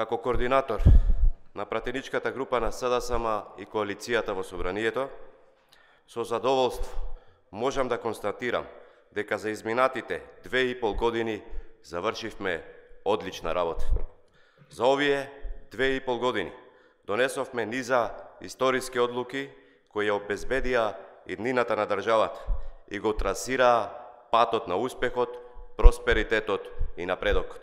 Како координатор на пратеничката група на СДСМ и коалицијата во Собранието, со задоволство можам да констатирам дека за изминатите 2,5 години завршивме одлична работа. За овие 2,5 години донесовме низа историски одлуки кои ја обезбедија иднината на државата и го трасираа патот на успехот, просперитетот и напредокот.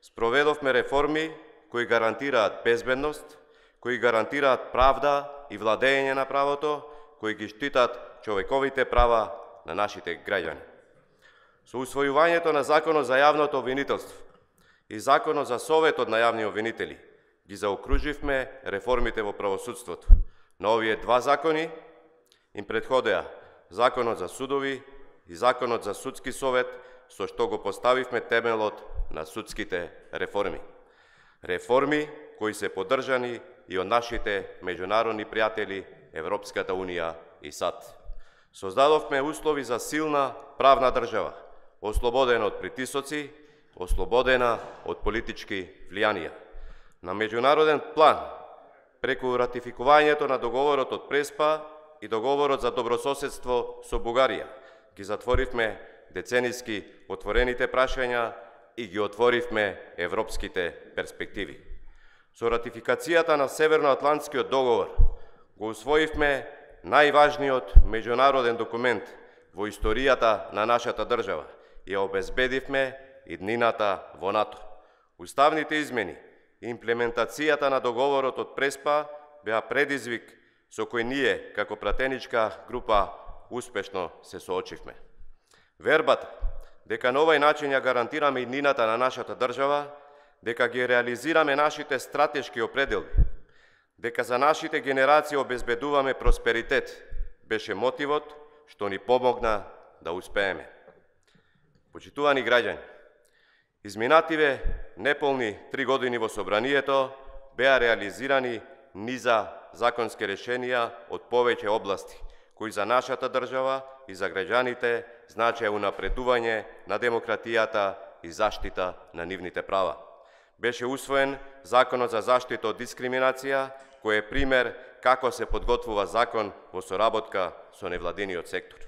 Спроведовме реформи кои гарантираат безбедност, кои гарантираат правда и владење на правото, кои ги штитат човековите права на нашите граѓани. Со усвојувањето на Законот за јавното обвинителство и Законот за Советот на јавни обвинители ги заокруживме реформите во правосудството. На овие два закони им претходеа Законот за судови и Законот за судски совет, со што го поставивме темелот на судските реформи. Реформи кои се поддржани и од нашите меѓународни пријатели Европската Унија и САД. Создадовме услови за силна правна држава, ослободена од притисоци, ослободена од политички влијанија. На меѓународен план, преку ратификувањето на договорот од Преспа и договорот за добрососедство со Бугарија, ги затворивме децениски отворените прашања и ги отворивме европските перспективи. Со ратификацијата на Северноатлантскиот договор го усвоивме најважниот меѓународен документ во историјата на нашата држава и ја обезбедивме иднината во НАТО. Уставните измени и имплементацијата на договорот од Преспа беа предизвик со кој ние, како пратеничка група, успешно се соочивме. Вербата дека на овај начин ја гарантираме иднината на нашата држава, дека ги реализираме нашите стратешки определби, дека за нашите генерации обезбедуваме просперитет, беше мотивот што ни помогна да успееме. Почитувани граѓани, изминативе неполни 3 години во Собранието беа реализирани низа законски решенија од повеќе области, кои за нашата држава и за граѓаните значеа унапредување на демократијата и заштита на нивните права. Беше усвоен Законот за заштита од дискриминација, кој е пример како се подготвува закон во соработка со невладиниот сектор.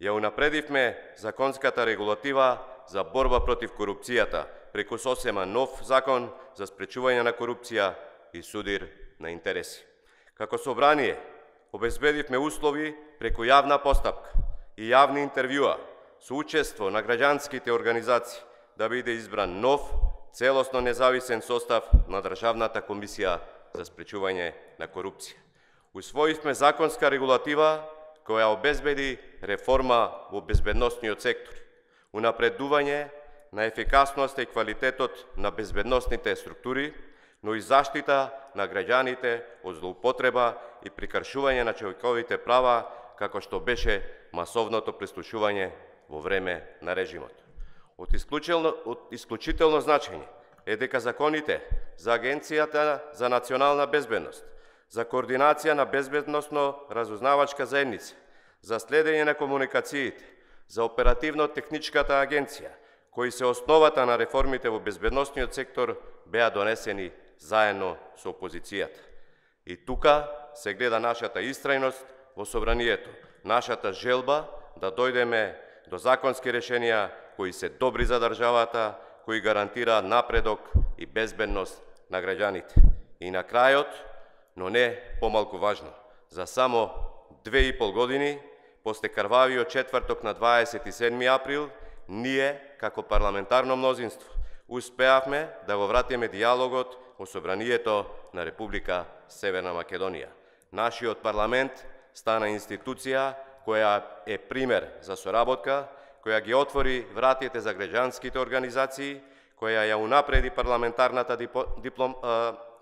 Ја унапредивме законската регулатива за борба против корупцијата, преку сосема нов закон за спречување на корупција и судир на интереси. Како собрание, обезбедивме услови преку јавна постапка и јавни интервјуа со учество на граѓанските организации да биде избран нов, целосно независен состав на Државната комисија за спречување на корупција. Усвоивме законска регулатива која обезбеди реформа во безбедносниот сектор, унапредување на ефикасноста и квалитетот на безбедносните структури, но и заштита на граѓаните од злоупотреба и прекршување на човековите права, како што беше масовното прислушување во време на режимот. Од исклучително значење е дека законите за Агенцијата за национална безбедност, за координација на безбедносно-разузнавачка заедница, за следење на комуникациите, за оперативно-техничката агенција, кои се основата на реформите во безбедносниот сектор, беа донесени заедно со опозицијата. И тука се гледа нашата истрајност во Собранието, нашата желба да дојдеме до законски решенија кои се добри за државата, кои гарантираат напредок и безбедност на граѓаните. И на крајот, но не помалку важно, за само 2,5 години, после крвавиот четврток на 27 април, ние, како парламентарно мнозинство, успеавме да го вратиме диалогот во Собранието на Република Северна Македонија. Нашиот парламент стана институција која е пример за соработка, која ги отвори вратите за граѓанските организации, која ја унапреди парламентарната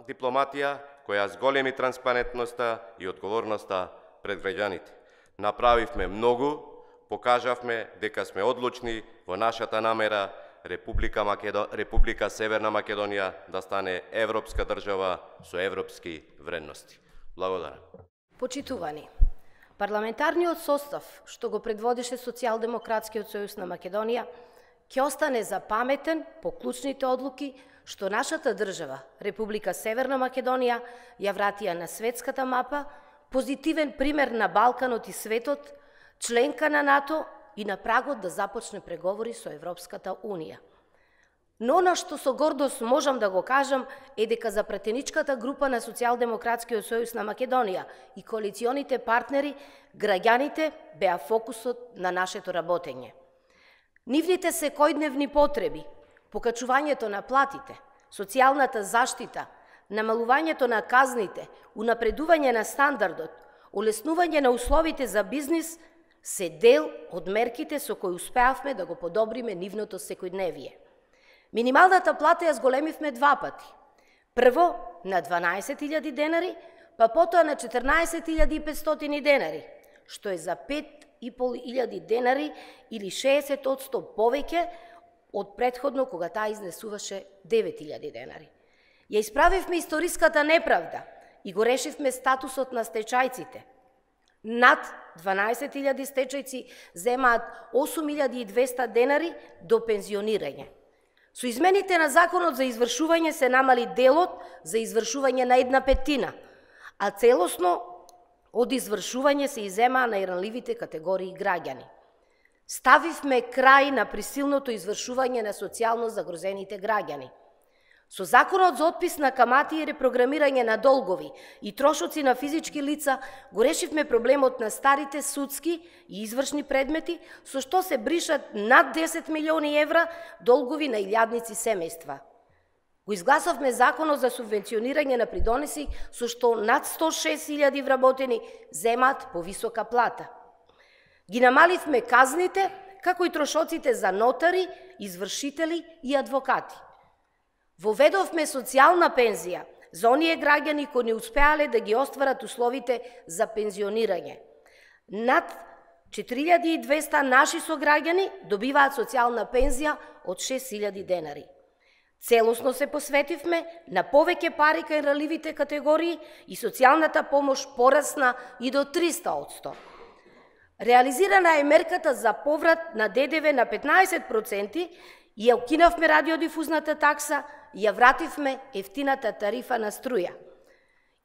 дипломатија, која зголеми транспарентноста и одговорноста пред граѓаните. Направивме многу, покажавме дека сме одлучни во нашата намера Република Северна Македонија да стане европска држава со европски вредности. Благодарам. Почитувани, парламентарниот состав што го предводеше Социјалдемократскиот сојуз на Македонија ќе остане запаметен по клучните одлуки што нашата држава, Република Северна Македонија, ја вратија на светската мапа, позитивен пример на Балканот и светот, членка на НАТО и на прагот да започне преговори со Европската Унија. Но на што со гордост можам да го кажам е дека за пратеничката група на Социјалдемократскиот сојуз на Македонија и коалиционите партнери, граѓаните беа фокусот на нашето работење. Нивните секојдневни потреби, покачувањето на платите, социјалната заштита, намалувањето на казните, унапредување на стандардот, олеснување на условите за бизнис се дел од мерките со кои успеавме да го подобриме нивното секојдневие. Минималната плата ја зголемивме 2 пати. Прво на 12.000 денари, па потоа на 14.500 денари, што е за 5.500 денари или 60% повеќе од претходно кога таа изнесуваше 9.000 денари. Ја исправивме историската неправда и го решивме статусот на стечајците. Над 12.000 стечајци земаат 8.200 денари до пензионирање. Со измените на Законот за извршување се намали делот за извршување на 1/5, а целосно од извршување се иземаа најранливите категории граѓани. Ставивме крај на присилното извршување на социјално загрозените граѓани. Со Законот за отпис на камати и репрограмирање на долгови и трошоци на физички лица го решивме проблемот на старите судски и извршни предмети, со што се бришат над 10 милиони евра долгови на илјадници семејства. Го изгласавме Законот за субвенционирање на придонеси, со што над 106.000 вработени земаат повисока плата. Ги намаливме казните, како и трошоците за нотари, извршители и адвокати. Воведовме социјална пензија за оние граѓани кои не успеале да ги остварат условите за пензионирање. Над 4.200 наши сограѓани добиваат социјална пензија од 6.000 денари. Целосно се посветивме на повеќе пари кај ranливите категории и социјалната помош порасна и до 300%. Реализирана е мерката за поврат на ДДВ на 15% и ја укинавме радиодифузната такса и ја вративме ефтината тарифа на струја.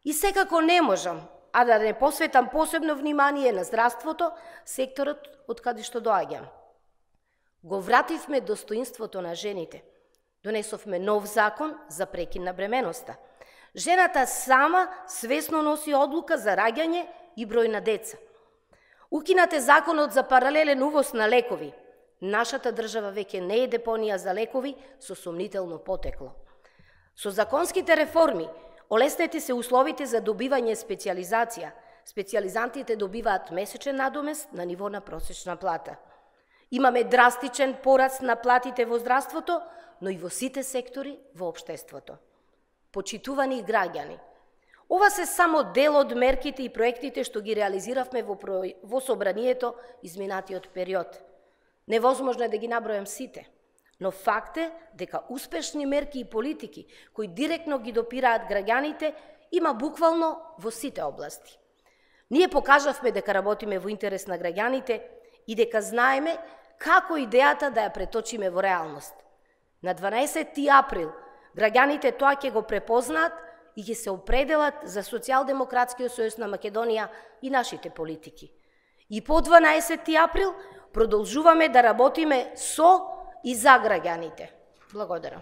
И секако не можам, а да не посветам посебно внимание на здравството, секторот од каде што доаѓам. Го вративме достоинството на жените. Донесовме нов закон за прекин на бременоста. Жената сама свесно носи одлука за раѓање и број на деца. Укинат е законот за паралелен увоз на лекови. Нашата држава веќе не е депонија за лекови со сомнително потекло. Со законските реформи олеснети се условите за добивање специјализација. Специјализантите добиваат месечен надомест на ниво на просечна плата. Имаме драстичен пораст на платите во здравството, но и во сите сектори во општеството. Почитувани граѓани, ова се само дел од мерките и проектите што ги реализиравме во собранието изминатиот период. Невозможно е да ги набројам сите, но факт е дека успешни мерки и политики кои директно ги допираат граѓаните има буквално во сите области. Ние покажавме дека работиме во интерес на граѓаните и дека знаеме како идејата да ја преточиме во реалност. На 12 април граѓаните тоа ќе го препознаат и ќе се определат за Социјалдемократскиот сојуз на Македонија и нашите политики. И по 12 април продолжуваме да работиме со и за граѓаните. Благодарам.